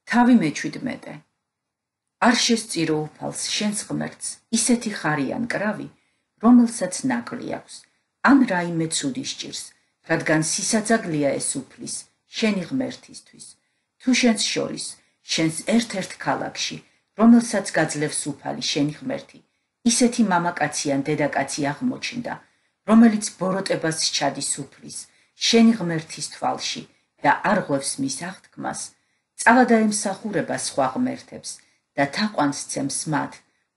თავი მეჩვიდმეტე. არ შესწირო უფალს შენს ღმერთს ისეთი ხარიან კრავი, რომელსაც ნაკლი აქვს, ან რაიმე ცუდი სჭირს, რადგან სისაძაგლია ეს უფლის, შენი ღმერთისთვის. თუ შენს შორის, შენს ერთ-ერთ ქალაქში, რომელსაც გაძლევს უფალი შენი ღმერთი, ისეთი მამაკაცი ან დედაკაცი აღმოჩნდა, რომელიც ბოროტებას სჩადის უფლის, შენი ღმერთის თვალში და არ ღვევს მის აღთქმას, წავა დაემსახურება სხვა ღმერთებს და თაყვანს ცემს მათ,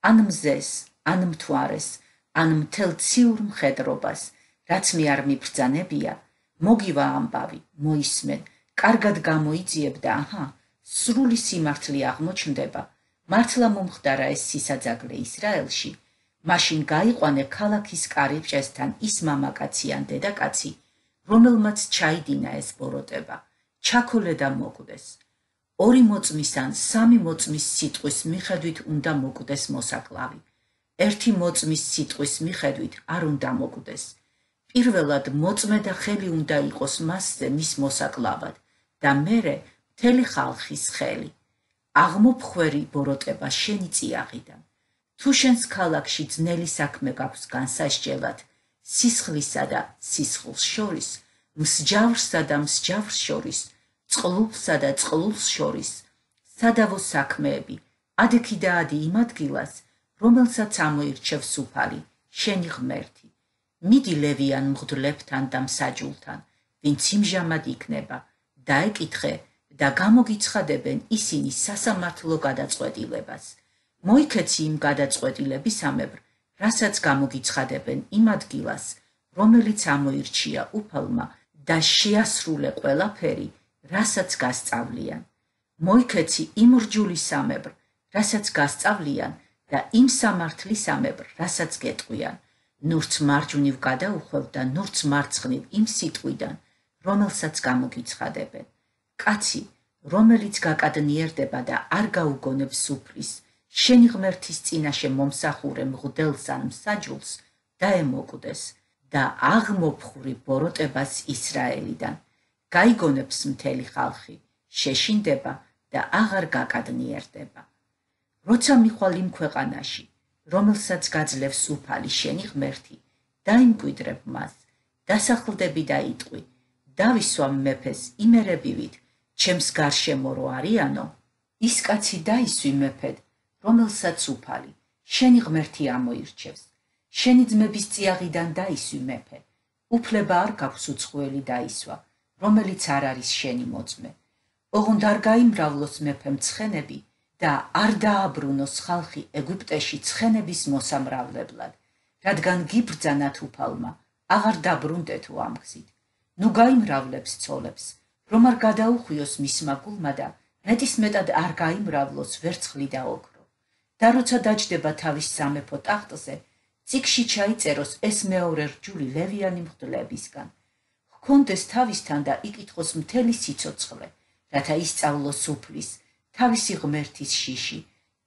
ან მზეს, ან მთვარეს, ან მთელ ციურ მხედრობას, რაც მე არ მიბრძანებია, მოგივა ამბავი, მოისმენ, კარგად გამოიძიებ და აჰა, სრული სიმართლე აღმოჩნდება, მართლა მომხდარა ეს სისაძაგლე ისრაელში, მაშინ გაიყვანე ქალაქის კარიბჭესთან ის მამაკაცი ან დედაკაცი, რომელმაც ჩაიდინა ეს ბოროტება, ჩაქოლე და მოკვდეს. 2 მოწმის ან 3 მოწმის სიტყვის მიხედვით უნდა მოკვდეს მოსაკლავი. 1 მოწმის სიტყვის მიხედვით არ უნდა მოკვდეს. პირველად მოწმე და ხელი უნდა იყოს მასზე მის მოსაკლავად და მერე მთელი ხალხის ხელი. აღმოფხვერი ბოროტება შენი წიაღიდან. თუ შენს ქალაქში ძნელი საქმე გაქვს განსასჯელად, სისხლისა და სისხლს შორის, მსჯავრსა და მსჯავრს შორის, წყლულსა და წყლულს შორის, სადავო საქმეები, ადექი და ადი იმ ადგილას, რომელსაც ამოირჩევს უფალი, შენი ღმერთი. მიდი ლევიან მღვდლებთან და მსაჯულთან, ვინც იმჟამად იქნება, დაეკითხე და გამოგიცხადებენ ისინი სასამართლო გადაწყვეტილებას. მოიქეცი იმ გადაწყვეტილებისამებრ, რასაც გამოგიცხადებენ იმ ადგილას, რომელიც ამოირჩია უფალმა და შეასრულე ყველაფერი, რასაც გასწავლიან. მოიქეცი იმ რჯულისამებრ, რასაც გასწავლიან და იმ სამართლისამებრ, რასაც გეტყვიან. ნურც მარჯვნივ გადაუხვევ და ნურც მარცხნივ იმ სიტყვიდან, რომელსაც გამოგიცხადებენ. კაცი, რომელიც გაკადნიერდება და არ გაუგონებს უფლის, შენი ღმერთის წინაშე მომსახურე მღვდელს ან მსაჯულს დაემოკვდეს და აღმოფხვრი ბოროტებას ისრაელიდან. გაიგონებს მთელი ხალხი, შეშინდება და აღარ გაკადნიერდება. როცა მიხვალ იმ ქვეყანაში, რომელსაც გაძლევს უფალი შენი ღმერთი, დაიმკვიდრებ მას, დასახლდები და იტყვი, დავისვამ მეფეს იმერებივით, ჩემს გარშემო რო არიანო, ის კაცი დაისვი მეფედ, რომელსაც უფალი, შენი ღმერთი ამოირჩევს, შენი ძმების წიაღიდან დაისვი მეფე, უფლება არ გაქვს უცხოელი დაისვა, რომელიც არ არის შენი მოწმე. ოღონდ არ გაიმრავლოს მეფემ ცხენები და არ დააბრუნოს ხალხი ეგვიპტეში ცხენების მოსამრავლებლად, რადგან გიბრძანათ უფალმა, აღარ დაბრუნდეთო ამ გზით. ნუ გაიმრავლებს ცოლებს, რომ არ გადაუხვიოს მისმა გულმა და მეტისმეტად არ გაიმრავლოს ვერცხლი და ოქრო. და როცა დაჯდება თავის სამეფო ტახტზე, წიგში ჩაიწეროს ეს მეორე რჯული ლევიანი მღვდლებისგან. ჰქონდეს თავისთან და იკითხოს მთელი სიცოცხლე, რათა ისწავლოს უფლის, თავისი ღმერთის შიში,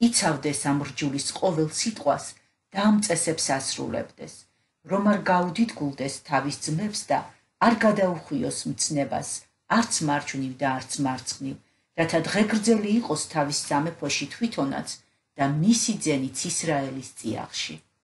იცავდეს ამ რჯულის ყოველ სიტყვას და ამ წესებს ასრულებდეს, რომ არ გაუდიდგულდეს თავის ძმებს და არ გადაუხვიოს მცნებას, არც მარჯვნივ და არც მარცხნივ, რათა დღეგრძელი იყოს თავის სამეფოში თვითონაც და მისი ძენიც ისრაელის წიაღში.